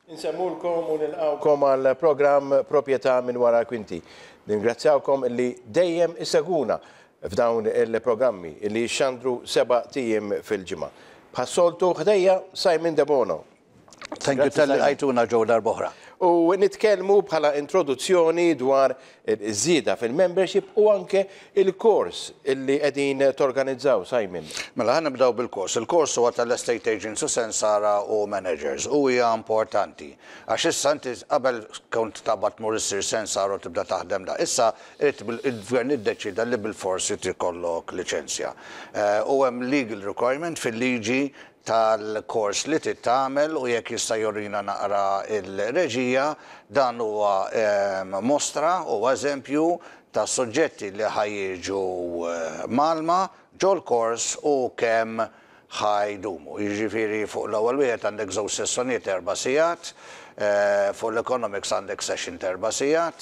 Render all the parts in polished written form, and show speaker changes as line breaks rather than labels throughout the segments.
Insellmulkom u nilqgħukom għal programm Proprjetà minn wara l-kwinti. Ningrazzjawkom li dejjem issegwuna f'dawn il-programmi li jixxandru sebat ijiem fil-ġimgħa. Bħas-soltu ħdejja Simon Debono.
Thank you talli lqajtuna ġew darb'oħra.
U nitkellmu bħala introduzzjoni dwar iż-żieda fil-membership u anke il-kors illi qegħdin torganizzaw, Simon.
Mela ħa nibdew bil-kors. Il-kors huwa tal-estate agents u sensara u managers u hija importanti. Għax issa inti qabel kont taqbad tmur issir sensara u tibda taħdem da. Issa il-gvern iddeċieda li bilfors irid ikollok liċenzja. U hemm legal requirement fil-liġi tal-kors li trid tagħmel u jekk jista' jurina naqra l-reġija, dan huwa mostra, huwa eżempju ta' suġġetti li ħa jiġu mgħallma ġol-kors u kemm ħa jdumu. Jiġifieri fuq l-ewwel wieħed għandek żewġ sessjonijiet erba' sigħat, fuq l-economics għandek session t'erba' sigħat,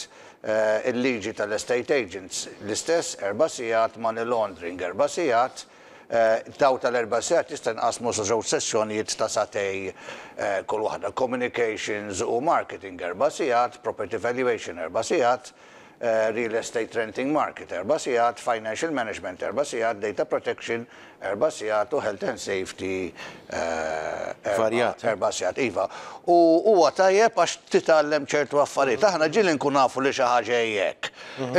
il-liġi tal-estate agents l-istess erba' sigħat, money laundering erba' sigħat, Dawn tal-erba' sigħat jista' jinqasmu sa żewġ sessjonijiet ta' sagħtejn kull waħda. Communications u Marketing erba' sigħat, Property Valuation erba' sigħat, Real Estate Renting Market erba' sigħat, Financial Management erba' sigħat, Data Protection erba' sigħat u Health and Safety erba' sigħat. Iva. U huwa tajjeb għax titgħallem ċertu affarijiet. Aħna ġieli nkunu nafu li xi ħaġa hi hekk,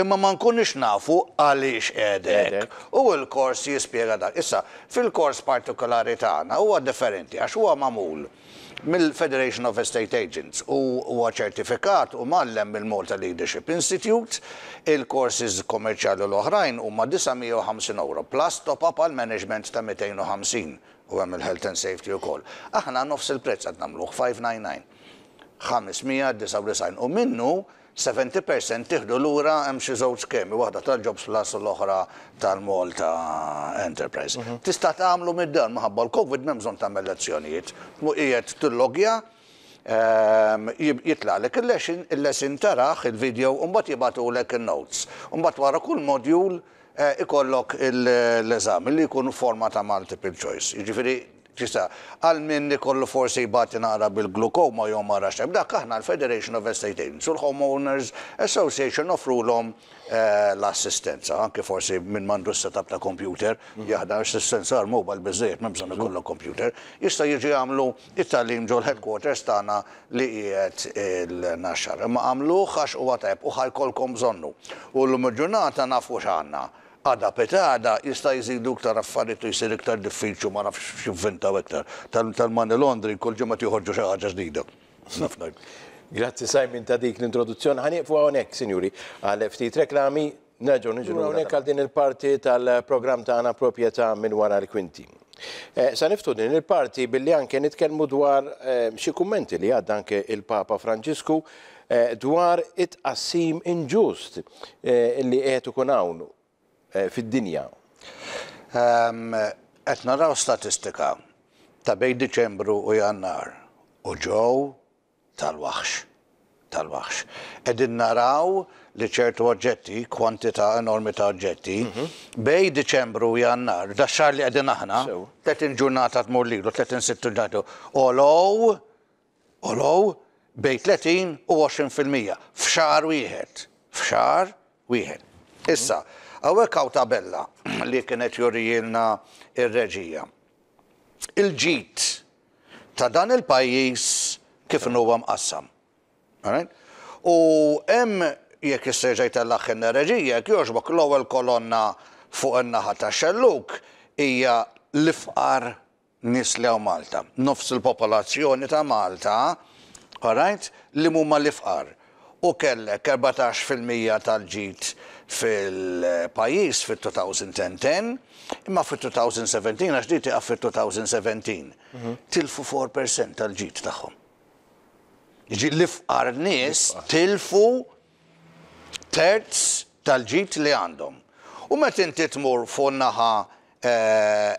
imma ma nkunux nafu għaliex qiegħda hekk. U l-kors jispjega dak. Issa, fil-kors partikolari tagħna huwa differenti għax huwa magħmul mill-Federation of Estate Agents u huwa ċertifikat u mgħallem mill-Malta Leadership Institute. Il-courses kommerċjali l-oħrajn huma 950 ewro plus top-up għall-management ta' 250 u hemm il-health and safety ukoll. Aħna nofs il-prezz qed nagħmluh, 599. 599 u minnu 70% tieħdu lura hemm xi żewġ skemi, waħda tal-Jobs Plus u l-oħra tal-Malta Enterprise. Tista' tagħmlu mid-dar minħabba l-Covid m'hemm bżonn tagħmel lezzjonijiet. Tmur qiegħed tillogja, jitlagħlek il-lesson, il-lesson tarah, il-video, u mbagħad jibagħtulek in-notes. U mbagħad wara kull module ikollok l-eżami li jkun forma ta' multiple choice. Jiġifieri Tista', għal min ikollu forsi jbati naqra bil-glukoma jew ma rax dak aħna l-Federation of Estate Agents u l-Homeowners Association noffrulhom l-assistenza. Anke forsi min m'għandux setup ta' computer, jaħdem għax is-sensar mobile biżżejjed m'hemm bżonn ikollok computer, jista' jiġi jagħmlu t-tagħlim ġol-headquarters tagħna li qiegħed il-Naxxar. Imma agħmluh għax huwa tajjeb u ħa jkollkom bżonnu. U llum il-ġurnata nafu x'għandna. Għada pitgħada jista' jżidu iktar affarijiet u jsir iktar diffiċli u ma nafx x'jivvintaw iktar. Tal-money laundering kull ġimgħa qed joħorġu xi ħaġa ġdida. Naf ngħid.
Grazzi Simon ta' dik l-introduzzjoni. Ħa nieqfu hawnhekk, sinjuri, għal ftit reklami. Nerġgħu niġu lura hawnhekk għal din il-parti tal-programm tagħna Proprjetà minn wara l-kwinti. Sa niftu din il-parti billi anke nitkellmu dwar xi kummenti li għadda anke il-Papa Franġisku dwar it-tqassim inġust li qiegħed ikun hawn fid-dinja.
Qed naraw statistika ta' bejn Diċembru u Jannar u ġew tal-waħx. Tal-waħx. Qegħdin naraw li ċertu oġġetti, kwantità enormi ta' oġġetti, bejn Diċembru u Jannar, dax-xahar li qegħdin aħna, 30 ġurnata tmur lilu, 30 sitt ġurnata, għolow Għolow bejn 30 u 20% f'xahar wieħed. F'xahar wieħed. Issa, hawnhekk hawn tabella li kienet jurijielna r-reġija. Il-ġid ta' dan il-pajjiż kif inhuwa mqassam. Alright? U hemm jekk jista' jerġa' jtellagħilna r-reġija, jekk jogħġbok, l-ewwel kolonna fuq in-naħa tax-xellug hija l-ifqar nies li hawn Malta. Nofs il-popolazzjoni ta' Malta, alright, li mhuma l-ifqar. U kellek 14% tal-ġid fil-pajjiż fit-2010, imma fit-2017, għax di tieqaf fit-2017, tilfu 4% tal-ġid tagħhom. Jiġifieri l-ifqar nies tilfu terz tal-ġid li għandhom. U meta inti tmur fuq naħa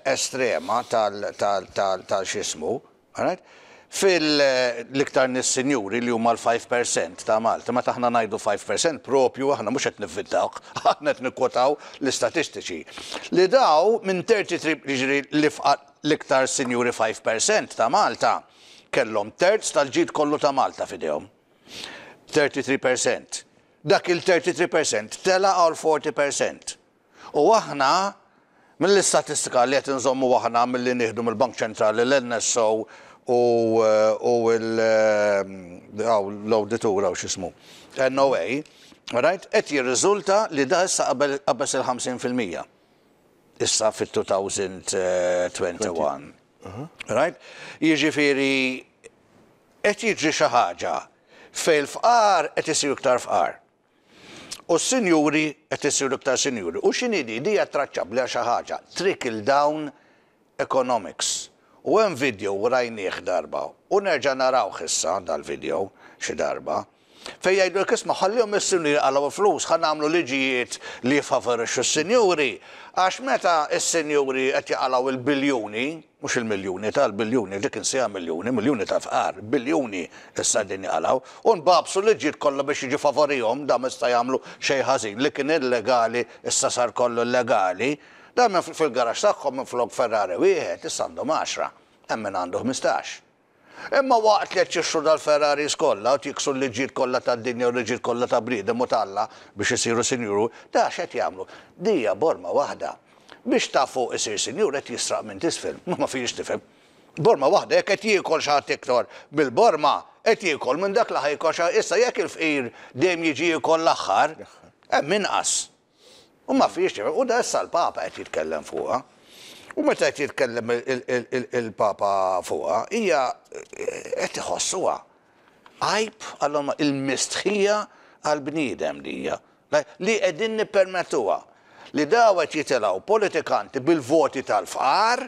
estrema tal-x'ismu, fil-iktar nies sinjuri li huma l-5% ta' Malta, meta aħna ngħidu 5% propju aħna mhux qed nivvintawh, aħna qed nikkwotaw l-istatistiċi. Li daw minn 33, jiġifieri l-iktar sinjuri 5% ta' Malta, Kellhom terz tal-ġid kollu ta' Malta f'idejhom. 33 per cent. Dak il-33 per cent tela' għal 40 per cent. U aħna, mill-istatistika li qed inżommu aħna milli nieħdu mill-Bank Ċentrali, l-NSO u l-awditur hawn x'ismu, NOA, right, qed jirriżulta li da issa qabeż il-50%. Issa fit-2021. Right? Jiġifieri qed jiġri xi ħaġa fejn il-fqar qed isiru iktar fqar. U s-sinjuri qed isiru iktar sinjuri. U x'inhi di? Di hija traċċabbli għal xi ħaġa, trickle down economics. U hemm video rajnieh darba u nerġa' narawh issa dal-video xi darba, fejn jgħidulek isma' ħallihom is-sinjuri jqalgħu l-flus, ħa nagħmlu liġijiet li jiffavorixxu s-sinjuri għax meta s-sinjuri qed jaqalgħu l-biljuni, Mhux il-miljuni, ta' l-biljuni, dik insiha miljuni, miljuni ta' fqar, biljuni issa qegħdin jaqalgħu. U nbagħbsu l-liġijiet kollha biex jiġu favorihom, dawn ma jista' jagħmlu xejn ħażin, li kien illegali issa sar kollu llegali. Dawn minn fil-garaxx tagħhom minflok Ferrari wieħed issa għandhom għaxra, hemm min għandu 15. Imma waqt li qed jixtru dal-Ferraris kollha u qed jiksru l-liġijiet kollha tad-dinja u l-liġijiet kollha ta' bniedem u t'Alla biex isiru sinjuru, da x'qed jagħmlu? Di hija borma waħda. Biex ta' fuq isir sinjur qed jisraq minn t'isfel. Ma ma fihiex tifhem. Borma waħda jekk qed jiekol xi ħadd iktar mill-borma, qed jiekol minn dak li ħa jiekol xi Issa jekk il-fqir dejjem jiġi jiekol l-aħħar, hemm inqas. U ma fihiex tifhem. U da issa l-Papa qed jitkellem fuqha. U meta qed jitkellem il-Papa fuqha, hija qed iħossuha. Għajb għal il-mistħija għall-bniedem di hija. Li qegħdin nippermettuha. Li daw qed jitilgħu politikanti bil-voti tal-fqar,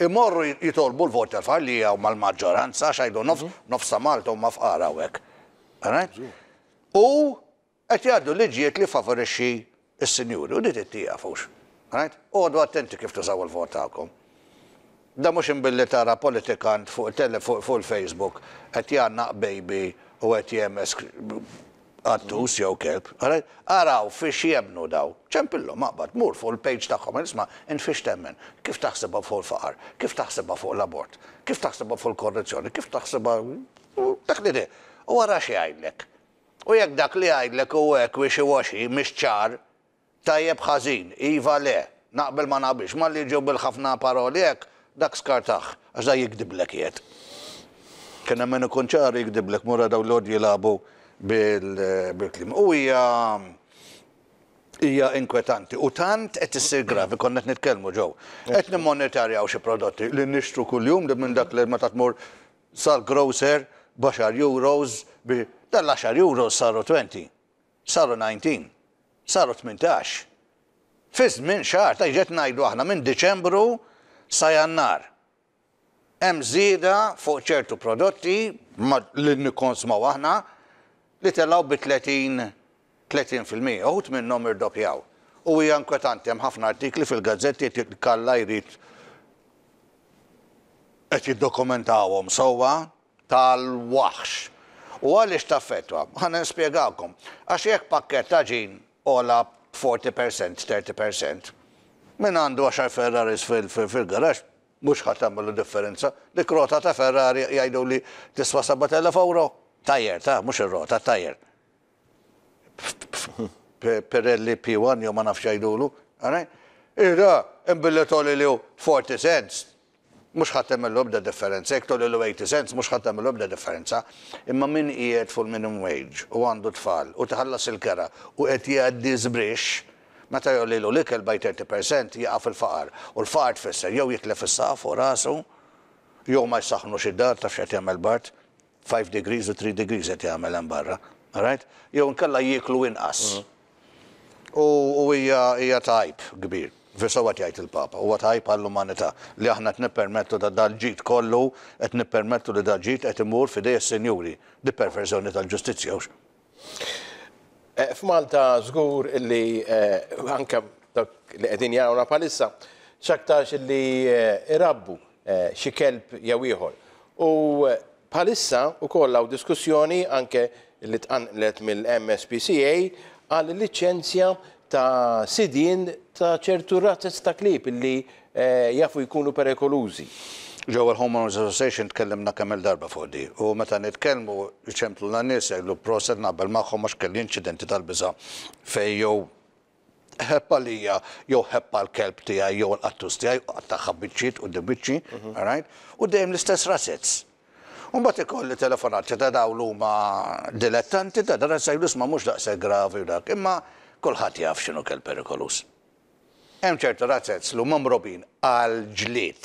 imorru jitolbu l-voti tal-fqar li huma l-maġġoranza, għax għidu nofs ta' Malta huma fqar hawnhekk. U Qed jgħaddu liġijiet li jfavorixxi s-sinjuri u di trid tieqaf hux. Right? Oqogħdu attenti kif tużaw il-vot tagħkom. Dan mhux imbilli tara politikant fuq tele fuq il-Facebook qed jgħannaq baby u qed jehmeż qattus jew kelb. Alright? Araw fiex jemmnu daw. Ċempillhom aqbad, mur fuq il-page tagħhom, isma' int fiex temmen? Kif taħsibha fuq il-faqar? Kif taħsibha fuq l-abort? Kif taħsibha fuq il-korruzzjoni? Kif taħsibha dak li U ara x'jgħidlek. U jekk dak li jgħidlek hu hekk wishy washy, mhix ċar, tajjeb ħażin, iva le, naqbel ma naqbilx, malli jiġu bil-ħafna paroli hekk, dak skartah, għax dak jigdiblek qiegħed. Kien hemm min ikun ċar u jigdiblek, mur ara dawn li jgħodu jilagħbu bil-kliem. U hija hija inkwetanti u tant qed issir gravi, konna qed nitkellmu Joe. Qed nimmonitorjaw xi prodotti li nixtru kuljum li minn dak li meta tmur Sal-grocer b'għaxar euros bi dan l-għaxar euros saru 20, saru 19, saru 18. Fi żmien xahar, ta' qed ngħidu aħna minn Diċembru sa Jannar. Hemm żieda fuq ċertu prodotti li nikkonsmaw aħna li telgħu bi 30 30%, uħud minnhom irdoppjaw. U hija inkwetanti, hemm ħafna artikli fil-gazzetti qed Kalla jrid qed jiddokumentawhom sewwa tal-waħx. U għaliex taffettwa? Ħa nispjegakom. Għax jekk pakkett għaġin għola b'40 percent, 30 percent, min għandu għaxar Ferraris fil-garaxx mhux ħa tagħmillu differenza. Dik rota ta' Ferrari jgħiduli tiswa 7,000 ewro. Tajer, ta' mhux ir-rota, tajer. Pirelli P1 jew ma nafx jgħidulu. Ira, imbilli tgħoliliu 40 cents, mhux ħa tagħmillu ebda differenza, jekk tgħoliliu 80 cents mhux ħa tagħmillu ebda differenza. Imma min qiegħed fuq il-minimum wage u għandu tfal u tħallas il-kera u qed jgħaddi żbrixx, meta jgħollilu l-ikel by 30% jaqa' fil-faqar. U l-faqar tfisser jew jitlef is-saqaf fuq rasu, jew ma jsaħħnux id-dar, taf x'qed jagħmel Bart, 5 degrees u 3 degrees qed jagħmel hemm barra. Alright? Jew inkella jieklu inqas. U hija hija ta' għajb kbir. Sewwa qed jgħid il-Papa, huwa ta' għajb għall-umanità li aħna qed nippermettu da dal-ġid kollu, qed nippermettu li dal-ġid qed imur f'idej is-sinjuri. Di perverżjoni tal-ġustizzja hux?
F'Malta żgur illi anke dawk li qegħdin jarawna bħalissa x'aktarx illi irabbu xi kelb jew ieħor. U bħalissa wkoll hawn diskussjoni anke li tqanqlet mill-MSPCA għal liċenzja ta' sidien ta' ċertu razez ta' klieb illi jafu jkunu perikolużi.
Ġewwa l-Homeowners Association tkellimna kemm-il darba fuq di u meta nitkellmu jċemplulna nies jgħidlu proset naqbel magħhom għax kelli inċidenti tal-biża' fejn jew ħebb għalija jew ħebb għall-kelb tiegħi jew għall-qattus tiegħi u qattagħha biċċiet quddiem wiċċi, all right? U dejjem l-istess razez. U mbagħad ikolli telefonati ta' dawn li huma dilettanti ta' dan jgħidu isma' mhux daqshekk gravi u dak, imma kulħadd jaf x'inhu kelb perikoluż. Hemm ċertu razzez li huma mrobbijin għall-ġlied.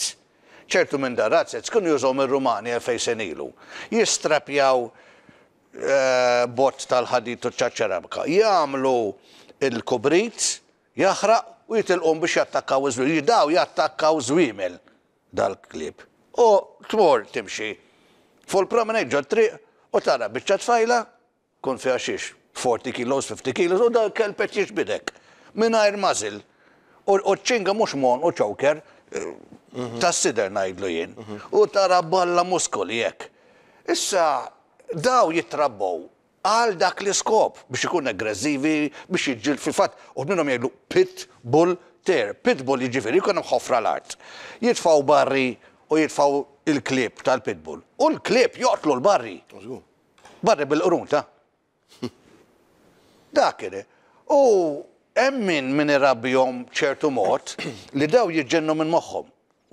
Ċertu minn dan razzez kienu jużawhom ir-Rumani 2000 sena ilu. Jistrappjaw bott tal-ħadid u ċ-ċeramika. Jagħmlu l-kubrit jaħraq u jitilquhom biex jattakkaw iż-żwiemel. Daw jattakkaw żwiemel dal-klieb. U tmur timxi fuq il-promenade ġot-triq u tara biċċa tfajla Tkun fiha xiex, 40 kilos, 50 kilos, u dal-kelb qed jiġbidek. Mingħajr muzzle. U ċ-ċinga mhux m'għonqu choker, tas-sider ngħidlu jien. U tara balla muskoli hekk. Issa, daw jitrabbew għal dak l-iskop, biex ikun aggressivi, biex jiġġieled, fil-fatt, uħud minnhom jgħidlu pit bull terrier. Pit bull jiġifieri jkun hemm ħofra l-art. Jitfgħu barri u jitfgħu l-klieb tal-pit bull. U l-klieb joqtlu l-barri. Barri bil-qrun ta'. Dak kien. U hemm min min irabbihom b'ċertu mod li daw jiġġennu minn moħħhom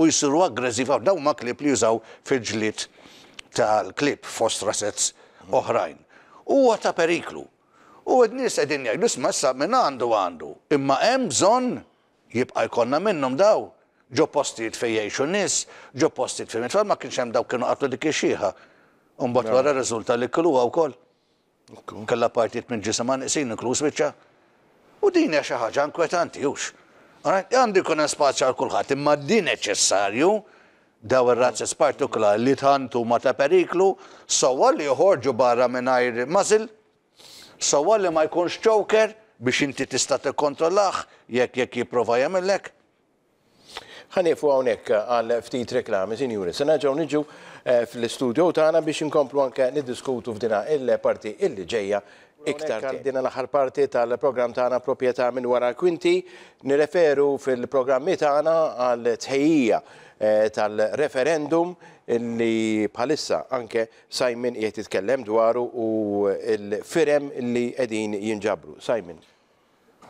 u jsiru aggressivi ħafna. Dawn huma klieb li jużaw fil-ġlied tal-klieb fost rasez oħrajn. Huwa ta' periklu. U n-nies qegħdin jgħidu isma' issa min għandu għandu. Imma hemm bżonn Jibqa' jkollna minnhom daw? Ġo postijiet fejn jgħixu nies, ġo postijiet fejn it-tfal ma kienx hemm dawk kienu qatlu dik ix-xiħa. U mbagħad wara rriżulta li kiluha wkoll. Kellha partijiet minn ġisimha neqsin inkluż wiċċha. U din hija xi ħaġa inkwetanti, hux? Għandu jkun hemm spazju għal kulħadd, imma di neċessarju daw ir-razzez partikulari li tant huma ta' periklu, sewwa li joħorġu barra mingħajr muzzle, Sewwa li ma jkunx choker biex inti tista' tikkontrollah jekk jekk jipprova jagħmillek.
Ħa nieqfu hawnhekk għal ftit reklami, sinjuri. Se nerġgħu niġu fl-istudio tagħna biex inkomplu anke niddiskutu f'dina il-parti illi ġejja iktar tard. Dina l-aħħar parti tal-programm tagħna Proprjetà minn wara l-kwinti. Nirreferu fil-programmi tagħna għal tħejjija tal-referendum illi bħalissa anke Simon qiegħed jitkellem dwaru u l-firem li qegħdin jinġabru. Simon.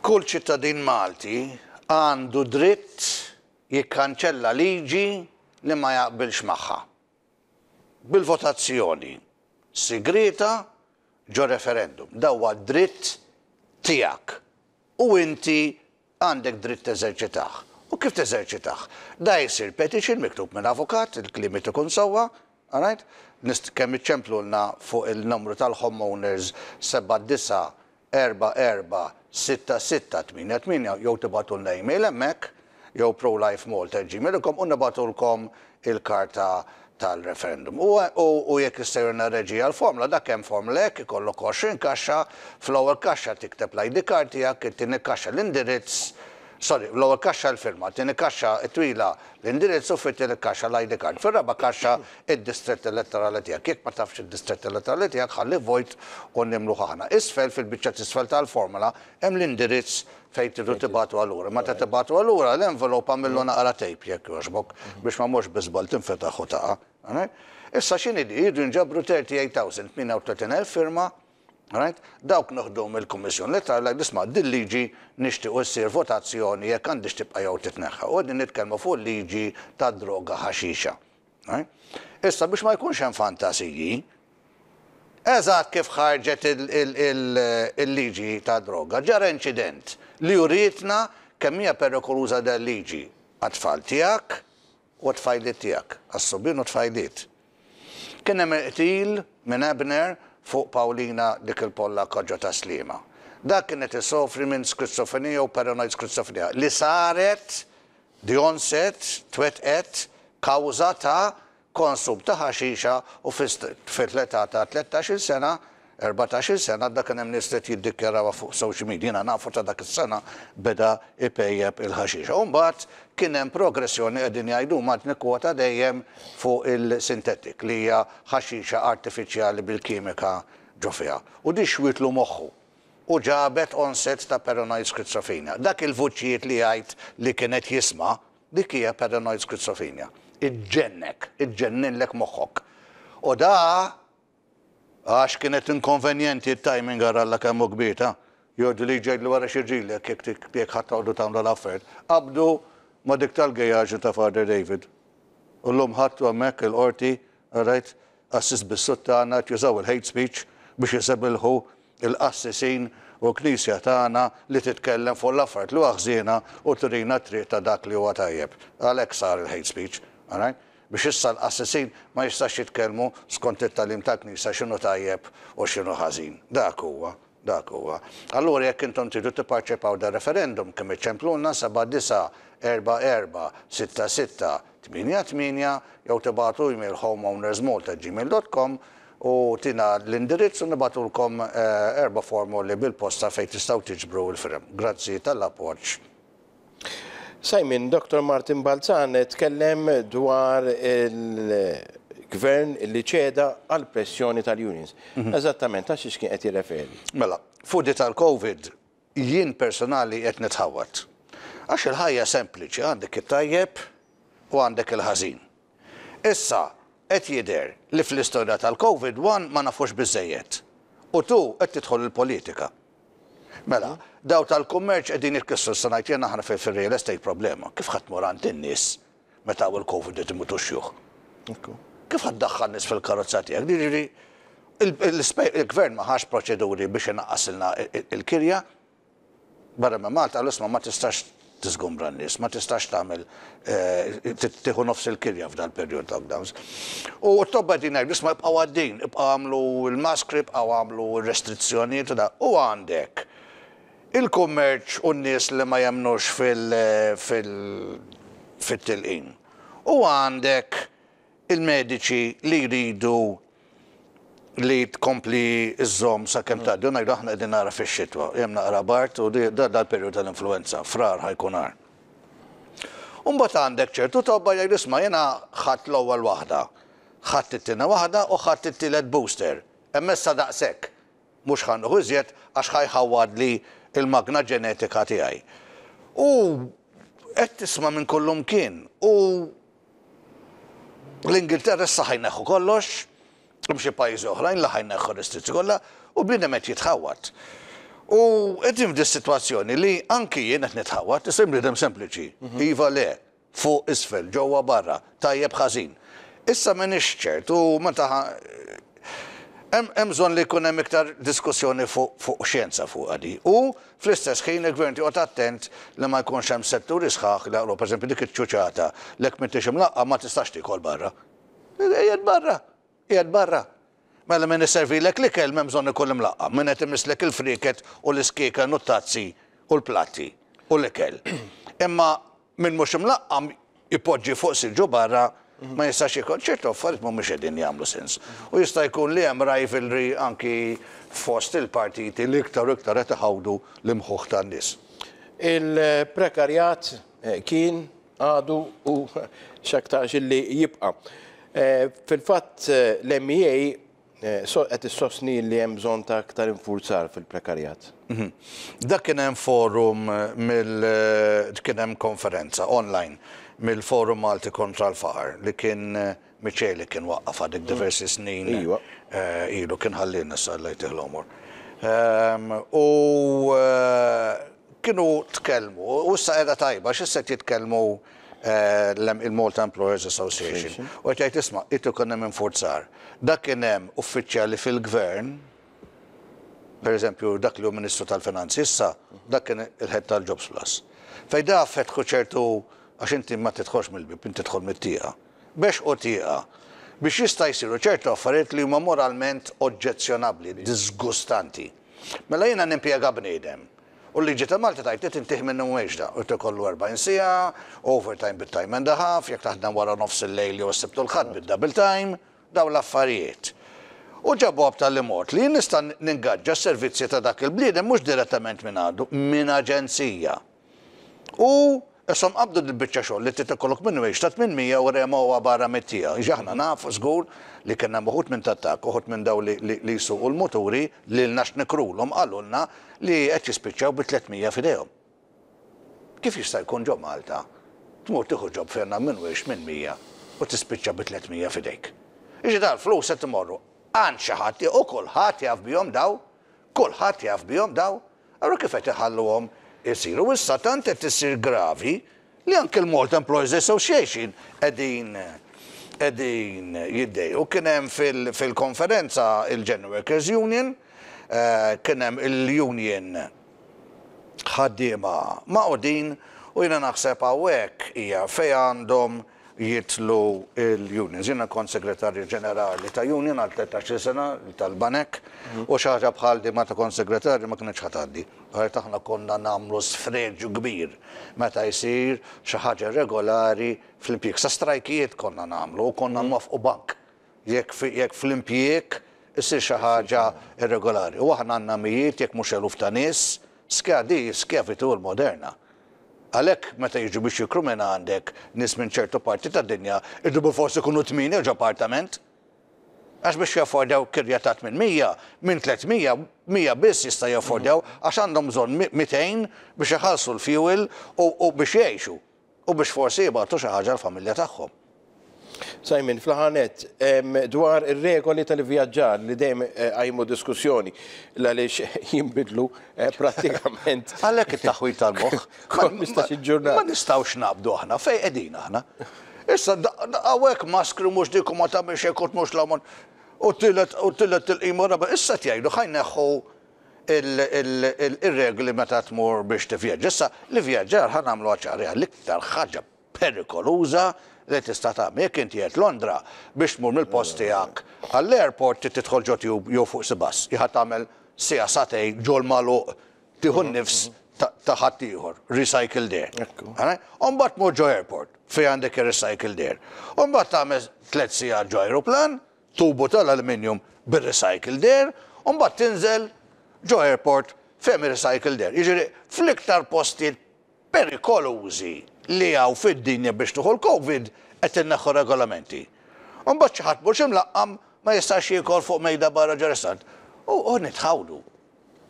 Kull ċittadin Malti għandu dritt jikkanċella liġi li ma jaqbilx magħha. Bil-votazzjoni sigrieta ġo referendum. Da huwa dritt tiegħek u inti Għandek dritt teżerċitah. U kif teżerċitah? Da jsir petition miktub minn avukat, il-kliem irid ikun sewwa, alright? Nist kemm iċċemplulna fuq il-numru tal-homeowners 79446688 jew tibagħtulna email hemmhekk jew prolifemalta@gmail.com u nibagħtulkom il-karta tal-referendum. U, u, u jekk jista' jurina r-reġija l-formula, dak hemm formula hekk, ikollok 20 kaxxa, fl-ewwel kaxxa tikteb l-ID card tiegħek, it-tieni kaxxa l-indirizz, sorry, l-ewwel kaxxa l-firma, it-tieni kaxxa t-twila l-indirizz u fit-tielet kaxxa l-ID card. Fir-raba' kaxxa id-distrett elettorali tiegħek. Jekk ma tafx id-distrett elettorali tiegħek ħalli vojt u nimluh aħna. Isfel, fil-biċċa t'isfel tal-formula, hemm l-indirizz Fejn tridu tibagħtuha lura. Meta tibagħtuha lura, l-envelope agħmillu naqra tape jekk jogħġbok biex ma mhux bi żball tinfetaħ u taqa'. Issa x'inhi di? Jridu jinġabru 38,000, 38,000 firma, right? Dawk noħduhom mill-Kummissjoni Elettorali ngħidu isma' dil-liġi nixtiequ ssir votazzjoni jekk għandhiex tibqa' jew titneħħa. U qegħdin nitkellmu fuq il-liġi tad-droga ħaxixa. Issa biex ma jkunx hemm fantasiji, eżatt kif ħarġet il-liġi tad-droga, ġara inċident li urietna kemm hija perikoluża dal-liġi għat-tfal tiegħek u għat-tfajliet tiegħek, għas-subien u t-tfajliet. Kien hemm il-qtil minn Abner fuq Paulina dik il-Pollakka ġo Tas-Sliema. Dak kien qed isofri minn skrizofrenija u paranoid skrizofrenija li saret The onset twettqet kawża ta' konsum ta' ħaxixa u fl-età ta' tlettax-il sena, erbatax-il sena, dak kien hemm nies li qed jiddikjarawha fuq social media, jiena nafu ta' dak is-sena beda jpejjep il-ħaxixa. U mbagħad kien hemm progressjoni qegħdin jgħidu huma qed nikkwota dejjem fuq il-synthetic li hija ħaxixa artifiċjali bil-kimika ġo fiha. U di xwietlu moħħu. u ġabet onset ta' paranoid schizophrenia. Dak il-vuċijiet li jgħid li kien qed jisma', dik hija paranoid schizophrenia. Iġġennek, iġġenninlek moħħok. U da għax kienet inkonvenjenti t-timing ara Alla kemm hu kbir ta'. Jgħidu li jgħidlu wara x'jiġrilek jekk jekk ħa toqgħodu tagħmlu l-affarijiet. Qabdu ma' dik tal-gejaġu ta' Father David. U llum ħadtu hemmhekk il-qorti, alright, qassis bis-suttana qed jużaw il-hate speech biex isebilħu il-qassisin u l-Knisja tagħna li titkellem fuq l-affarijiet li huwa ħżiena u turina t-triq ta' dak li huwa tajjeb. Għalhekk sar il-hate speech, alright? Biex issa l-qassisin ma jistax jitkellmu skont it-tagħlim tal-Knisja x'inhu tajjeb u x'inhu ħażin. Dak huwa, dak huwa. Allura jekk intom tridu tipparċipaw dar-referendum kemm iċċemplulna 7944 66 88 jew tibagħtu email homeownersmalta@gmail.com u tina l-indirizz u nibagħtulkom erba' formoli bil-posta fejn tistgħu tiġbru l-firem. Grazzi tal-appoġġ.
Simon, Dottor Martin Balzan tkellem dwar il-Gvern li ċeda għall-pressjoni tal-unions. Eżattament għal xiex kien qed jirreferi?
Mela, fuq di tal-Covid, jien personali qed nitħawwad. Għax il-ħajja sempliċi, għandek it-tajjeb u għandek il-ħażin. Issa, qed jidher li fl-istorja tal-Covid, one, ma nafux biżżejjed u two, qed tidħol il-politika. Mela, daw tal-kummerċ qegħdin jitkissru, issa ngħid jien aħna fir-real estate problema. Kif ħa tmur għand in-nies meta hawn il-Covid qed imutu x-xjuħ? Kif ħa ddaħħal nies fil-karozza tiegħek? Jiġifieri, il-gvern ma ħax proċeduri biex inaqqasilna il-kirja. Barra minn Malta qalu isma' ma tistax tiżgumbra n-nies, ma tistax tagħmel tieħu nofs il-kirja f'dal-perjodu ta' lockdowns. U t-tobba qegħdin jgħidu isma' ibqgħu għaddejjin, ibqgħu agħmlu l-maskri, ibqgħu agħmlu r-restrizzjonijiet u da. U għandek il-kummerċ u n-nies li ma jemmnux fil-tilqim. U għandek il-mediċi li jridu li tkompli żżomm sakemm tgħaddi, u ngħidu aħna qegħdin nara fix-xitwa, hemm naqra bard u da dal-perjodu tal-influwenza, Frar ħa jkun agħar. U mbagħad għandek ċertu tobba jgħidu isma' jiena ħadt l-ewwel waħda, ħadt it-tieni waħda u ħadt it-tielet booster, hemm issa daqshekk, mhux ħa nieħu iżjed għax ħa jħawwadli l-magna ġenetika tiegħi. U qed tisma' minn kullumkien u L-Ingilterra issa ħa jneħħu kollox, hemm xi pajjiżi oħrajn li ħa jneħħu r-restrizzjoni kollha u bniedem qed jitħawwad. U qegħdin f'di sitwazzjoni li anki jien qed nitħawwad, issa jien bniedem sempliċi, iva le, fuq isfel, ġewwa barra, tajjeb ħażin. Issa m'iniex ċert u meta hemm bżonn li jkun hemm iktar diskussjoni fuq xjenza fuqha di. U Fl-istess ħin il-Gvern irid joqgħod attent li ma jkunx hemm setturi sħaħ li jaqilgħu, pereżempju dik iċ-ċuċata li jekk m'intix imlaqqam ma tistax tiekol barra. Qiegħed barra! Qiegħed barra! Mela min iservilek l-ikel m'hemm bżonn ikun imlaqqam, min qed imisslek il-frieket u l-iskieken u t-tazzi u l-platti u l-ikel. Imma Min mhux imlaqqam jpoġġi fuq siġġu barra ma jistax jiekol. Ċertu affarijiet mhumiex qegħdin jagħmlu sens. U jista' jkun li hemm rivalry anki fost il-partiti li iktar u iktar qed iħawdu l-imħuħ tan-nies.
Il-prekarjat kien, għadu u x'aktarx illi jibqa'. Fil-fatt l-MEA Qed issostni li hemm bżonn ta' aktar infurzar fil-prekarjat.
Dak kien hemm forum mill kien hemm konferenza online mill-Forum Malti kontra l-Faqar li kien Miceli kien waqqafha dik diversi snin ilu kien ħalliena issa Alla jtih l-għomor. U kienu tkellmu u issa qiegħda tajba għax issa qed jitkellmu il-Malta Employers Association u qed jgħid isma' irid ikun hemm infurzar. Dak kien hemm uffiċjali fil-Gvern, per eżempju dak li hu Ministru tal-Finanzi issa, dak kien il-Head tal-Jobs Plus. Fejn da fetħu ċertu, għax inti ma tidħolx mill-bieb, inti tidħol mit-tieqa. Bexqu tieqa biex jista' jsiru ċertu affarijiet li huma moralment oġġezzjonabbli, diżgustanti. Mela jiena nimpjega bniedem u l-liġi ta' Malta tgħid li tintih minimum wage da, irid ikollu 40 siegħa, overtime bit-time and a half, jekk taħdem wara nofs il-lejl jew is-Sibt u l-Ħadd bid-double time, dawn l-affarijiet. U ġabuha b'tali mod li jien nista' ningaġġa s-servizzi ta' dak il-bniedem mhux direttament minn għandu, minn aġenzija. U ishom qabdu dil-biċċa xogħol li trid ikollok minimum wage ta' 800 u remgħuha barra mit-tieqa. Jiġifieri aħna nafu żgur li kien hemm uħud minn tat-trakk, uħud minn dawn li jsuqu l-muturi lilna x'nikrulhom qalulna li qed jispiċċaw bi 300 f'idejhom. Kif jista' jkun ġo Malta tmur tieħu job fejn għandna minimum wage 800 u tispiċċa bi 300 f'idejk. Jiġifieri dal-flus qed imorru għand xi ħadd u kulħadd jaf bihom daw, kulħadd jaf bihom daw. Allura kif qed iħalluhom isiru? Issa tant qed issir gravi li anke l-Malta Employers Association qegħdin qegħdin jiddejqu. Kien hemm fil-konferenza il-General Workers Union, kien hemm il-union ħaddiema magħqudin u jiena naħseb hawnhekk hija fejn għandhom jidħlu l-unions. Jiena kont segretarju ġenerali ta' union għal 13-il sena tal-Banek u xi ħaġa bħal din meta kont segretarju ma kinitx ħa tgħaddi. Għax aħna konna nagħmlu sfreġju kbir meta jsir xi ħaġa irregolari fl-impjieg. Sa strajkijiet konna nagħmlu u konna nwaffqu bank jekk fl-impjieg issir xi ħaġa irregolari. U aħna għandna mijiet jekk mhux eluf ta' nies, di skjavitur moderna. Għalhekk meta jiġu biex jikru minn għandek nies minn ċertu parti tad-dinja, iridu bilfors ikunu tmienja ġo appartament. Għax biex jaffordjaw kirja ta' 800, minn 300, 100 biss jista' jaffordjaw għax għandhom bżonn 200 biex iħallsu l-fuel u biex jgħixu u biex forsi jibgħatu xi ħaġa l-familja tagħhom.
Simon, fl-aħħar nett, dwar ir-regoli tal-ivvjaġġar li dejjem qajmu diskussjoni għaliex jinbidlu prattikament.
Għalhekk it-taħwid tal-moħħ.
Kull 15-il ġurnata.
Ma nistgħux naqbdu aħna, fejn qegħdin aħna? Issa hawnhekk maskri mhux dik u ma tagħmilx hekk u tmurx 'l hawn u t-tielet u t-tielet tilqima u raba' issa qed jgħidu ħa jneħħu ir-regoli meta tmur biex tivvjaġġa. Issa l-ivvjaġġar ħa nagħmluha ċara hija l-iktar ħaġa perikoluża li tista' tagħmel. Jekk inti qiegħed Londra, biex tmur mill-post tiegħek għall-airport trid tidħol ġo tube jew fuq xi bus. Ħa tagħmel siegħa sagħtejn ġol-magħluq tieħu n-nifs ta' ħaddieħor, recycled air. U mbagħad tmur ġo airport fejn għandek ir-recycled air. U mbagħad tagħmel tliet sigħat ġo ajruplan, tubu tal-aluminium bir-recycled air, u mbagħad tinżel ġo airport fejn ir-recycled air. Jiġifieri fl-iktar postijiet perikolużi li hawn fid-dinja biex tieħu l-Covid qed inneħħu regolamenti. U mbagħad xi ħadd mhux imlaqqam ma jistax jiekol fuq mejda barra ġo ristorant. U nitħawdu.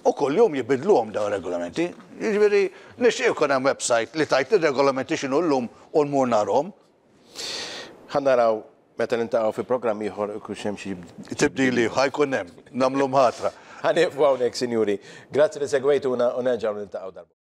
U kuljum jibidluhom dawn ir-regolamenti. Jiġifieri nixtieq ikun hemm website li tgħid ir-regolamenti x'inhu llum u nmur narhom.
Ħa naraw meta niltaqgħu fi programm ieħor ikunx hemm xi
tibdil ieħor. Ħa jkun hemm. Nagħmlu mħatra.
Ħa nieqfu hawnhekk, sinjuri. Grazzi li segwejtuna u nerġgħu niltaqgħu darb'oħra.